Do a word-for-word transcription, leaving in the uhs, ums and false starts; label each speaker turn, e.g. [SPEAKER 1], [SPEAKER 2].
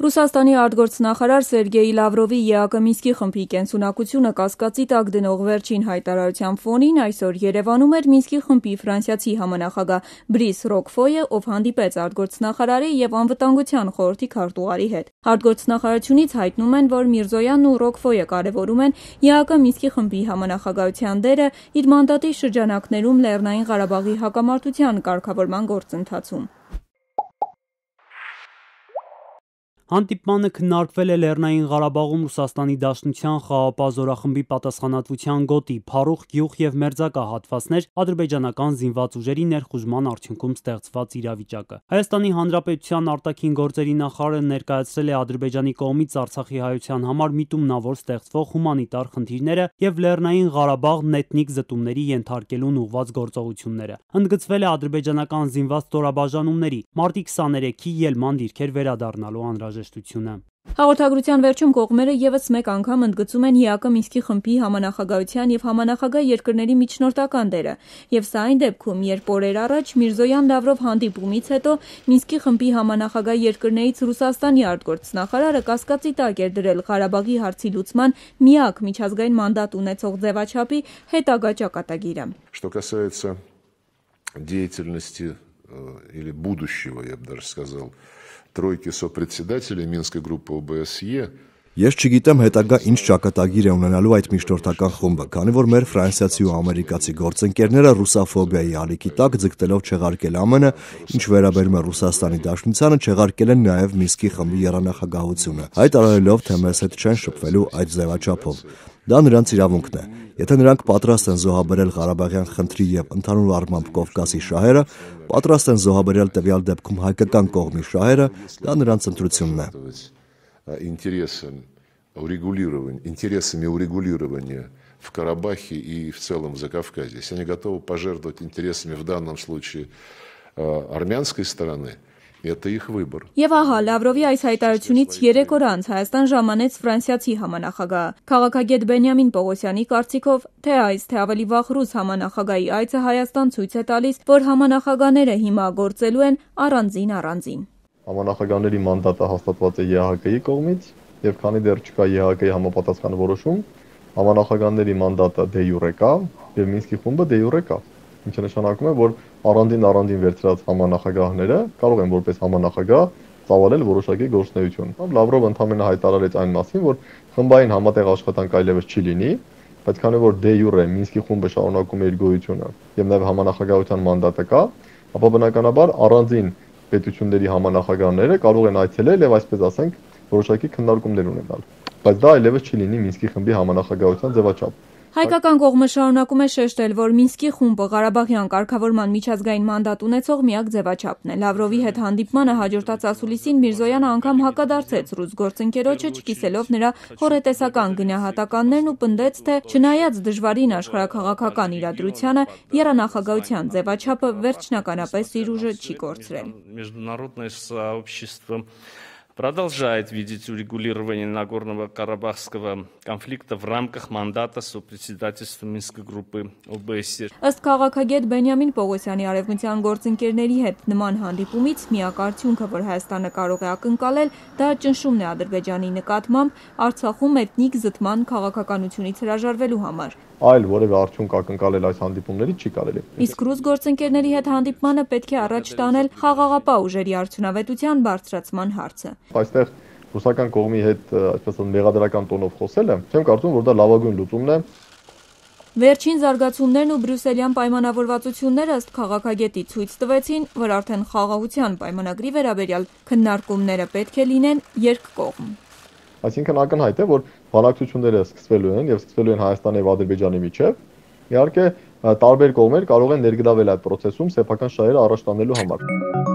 [SPEAKER 1] Ռուսաստանի արտգործնախարար Սերգեյ Լավրովի ԵԱԿ Մինսկի խմբի կենսունակությունը կասկածի տակ դնող վերջին հայտարարության ֆոնին այսօր Երևանում էր Մինսկի խմբի ֆրանսիացի համանախագահ Բրիս Ռոկֆոյը, ով հանդիպեց արտգործնախարարի և անվտանգության խորհրդի քարտուղարի հետ։ Արտգործնախարարությունից հայտնում են, որ Միրզոյանն ու Ռոկֆոյը կարևորում են ԵԱԿ Մինսկի խմբի համանախագահության դերը իր մանդատի շրջանակներում Լեռնային Ղարաբաղի հակամարտության կարգավորման գործընթացում։
[SPEAKER 2] Հանդիպմանը քննարկվել է Լեռնային Ղարաբաղում Ռուսաստանի Դաշնության խաղաղապահ զորախմբի պատասխանատվության գոտի, Փարուխ գյուղ և մերձակա հատվածներ, ադրբեջանական զինված ուժերի ներխուժման արդյունքում ստեղծված իրավիճակը։ Հայաստանի Հանրապետության արտաքին գործերի նախարարը ներկայացրել է Ադրբեջանի կողմից Արցախի հայության համար միտումնավոր ստեղծվող հումանիտար խնդիրները և Լեռնային Ղարաբաղն էթնիկ զտումների ենթարկելուն ուղղված գործողությունները։ Ընդգծվել է ադրբեջանական զինված ստորաբաժանումների մարտի քսաներեքի ելման դիրքեր վերադառնալու անհրաժեշտությունը։
[SPEAKER 1] Հաղորդագրության վերջում կողմերը ևս մեկ անգամ ընդգծում են ԵԱԿ Մինսկի խմբի համանախագահության և համանախագահ երկրների միջնորդական դերը, և սա այն դեպքում, երբ օրեր առաջ Միրզոյան-Լավրով հանդիպումից հետո Մինսկի խմբի համանախագահ երկրներից Ռուսաստանի արտգործնախարարը կասկածի տակ էր դրել Ղարաբաղի հարցի լուծման միակ միջազգային մանդատ ունեցող ձևաչափի հետագա ճակատագիրը։
[SPEAKER 3] Что касается деятельности или будущего, я бы даже сказал, тройки сопредседателей Минской группы О Б С Е.
[SPEAKER 4] Ես չգիտեմ հետագա ինչ ճակատագիր է ունենալու այդ միջնորդական խումբը, քանի որ մեր ֆրանսիացի ու ամերիկացի գործընկերները ռուսաֆոբիայի ալիքի տակ ձգտելով չեղարկել Ամեն Ը, ինչ վերաբերում է Ռուսաստանի Դաշնությանը, չեղարկել են նաև Մինսկի խմբի եռանախագահությունը, հայտարարելով, թե մեզ հետ չեն շփվելու այդ ձևաչափով։ Դա նրանց իրավունքն է։ Եթե նրանք պատրաստ են զոհաբերել Ղարաբաղյան խնդրի և ընդհանուր առմամբ Կովկասի շահերը, պատրաստ են զոհաբերել տվյալ դեպքում հայկական կողմի շահերը, դա նրանց ընտրությունն է։
[SPEAKER 3] Интересами урегулирования в Карабахе и в целом в Закавказье. Если они готовы пожертвовать интересами в данном случае армянской стороны, это их выбор.
[SPEAKER 1] Եվ ահա Լավրովի այս հայտարարությունից երեք օր անց Հայաստան ժամանեց ֆրանսիացի համանախագահը։ Քաղաքագետ Բենյամին Պողոսյանի կարծիքով, թե այս, թե ավելի վաղ ռուս համանախագահի այցը Հայաստան ցույց է տալիս, որ համանախագահները հիմա գործելու են առանձին-առանձին։
[SPEAKER 5] Համանախագահների մանդատը հաստատված է ԵԱՀԿ-ի կողմից, եւ քանի դեռ չկա ԵԱՀԿ-ի համապատասխան որոշում, համանախագահների մանդատը դե յուրե կա եւ Մինսկի խումբը դե յուրե կա, ինչը նշանակում է, որ առանձին-առանձին վերցրած համանախագահները կարող են որպես համանախագահ ծավալել որոշակի գործունեություն։ Լավրովը ընդհանրապես հայտարարեց այն մասին, որ խմբային համատեղ աշխատանք այլևս չի լինի, բայց քանի որ դե յուրե Մինսկի խումբը շարունակում է իր գոյությունը եւ նաեւ համանախագահության մանդատը կա, ապա բնականաբար առանձին պետությունների համանախագահները կարող են այցելել եւ այսպես ասենք որոշակի քննարկումներ ունենալ, բայց դա այլևս չի լինի Մինսկի խմբի համանախագահության ձևաչափ։
[SPEAKER 1] Հայկական կողմը շարունակում է շեշտել, որ Մինսկի խումբը Ղարաբաղյան կարգավորման միջազգային մանդատ ունեցող միակ ձևաչափն է։ Լավրովի հետ հանդիպմանը հաջորդած ասուլիսին Միրզոյանը անգամ հակադարձեց ռուս գործընկերոջը, չկիսելով նրա հորետեսական գնահատականներն ու պնդեց, թե չնայած դժվարին աշխարհաքաղաքական իրադրությանը, եռանախագահության ձևաչափը վերջնականապես իր ուժը չի կորցրել։
[SPEAKER 6] Продолжает видеть урегулирование Нагорного Карабахского конфликта в рамках мандата сопредседательства Минской группы О Б С Е.
[SPEAKER 1] Ըստ քաղաքագետ Բենյամին Պողոսյանի արևմտյան գործընկերների հետ նման հանդիպումից միակ արդյունքը, որ Հայաստանը կարող է ակնկալել, դա ճնշումն է Ադրբեջանի նկատմամբ Արցախում էթնիկ զտման քաղաքականությունից հրաժարվելու համար։
[SPEAKER 5] Այլ որևէ արդյունք ակնկալել այս հանդիպումներից չի կարելի։
[SPEAKER 1] Իսկ ռուս գործընկերների հետ հանդիպմանը պետք է առաջ տանել խաղաղապահ ուժերի արդյունավետության բարձրացման հարցը։
[SPEAKER 5] Այստեղ ռուսական կողմի հետ, այսպես ասած, մեղադրական տոնով խոսելը, չեմ կարծում, որ դա լավագույն լուծումն է։
[SPEAKER 1] Վերջին զարգացումներն ու բրյուսելյան պայմանավորվածությունները ըստ քաղաքագետի ցույց տվեցին, որ արդեն խաղաղության պայմանագրի վերաբերյալ քննարկումները պետք է լինեն երկկողմ։
[SPEAKER 5] Այսինքն ակնհայտ է, որ բանակցությունները սկսվելու են եւ սկսվելու են Հայաստանի եւ Ադրբեջանի միջեւ։ Իհարկե, տարբեր կողմեր կարող են ներգրավել այդ process-ում սեփական շահերը առաջ տանելու համար։